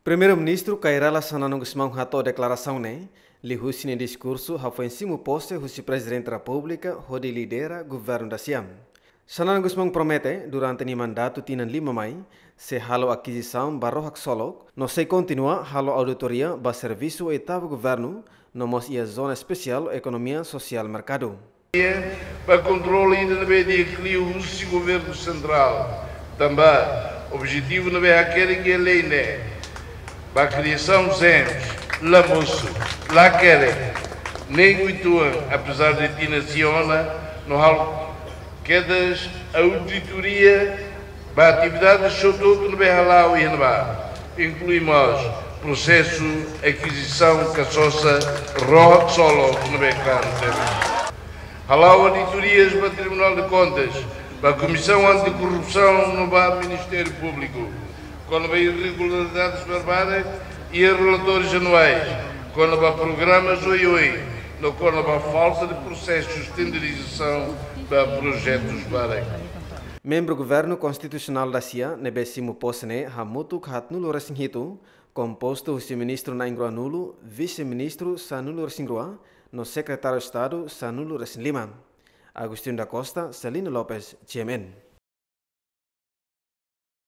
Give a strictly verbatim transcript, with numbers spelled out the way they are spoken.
Primeiru-Ministru Kay Rala Xanana Gusmão hato'o deklarasaun ne'e liuhusi nia diskursu hafoin simu pose husi Prezidente Repúblika hodi lidera governu da-sia. Xanana Gusmão promete, durante nia mandatu tinan lima mai, sei halo akizisaun ba ró haksolok, no sei kontinua halo auditoria ba servisu oitavu governu, no mós iha Zona Espesiál Ekonomia Sosiál Merkadu. Ba kontrola ida ne'ebé di'ak liu husi governu sentrál. Tanba objetivu ne'ebé hakerek iha lei ne'e ba kriasaun zens, la mosu, la hakerek, nein uitoan, apezar de tinan sia ona, no halo kedas auditoria ba atividade hotu-hotu ne'ebé hala'o iha ne'ebá, inklui mós prosesu akizisaun ka sosa ró haksolok ne'ebé kan tebe. Hala'o auditorias ba Tribunál de Contas, ba Komisaun Antikorrupsaun no ba Ministériu Públiku, kona-ba irregularidades barbarak iha relatórius anuais, kona-ba programas oioin, no kona-ba falta de prosesus tenderizasaun ba projetus barak. Membru Governu Konstitusionál da-sia ne'ebé simu pose ne'e hamutuk haatnulu-resin-hitu, kompostu husi ministru na'in-ruanulu, vise-ministru sanulu-resin-rua, no Sekretáriu Estadu sanulu-resin-lima. Agostinho da Costa, Celino Lopes, G M N.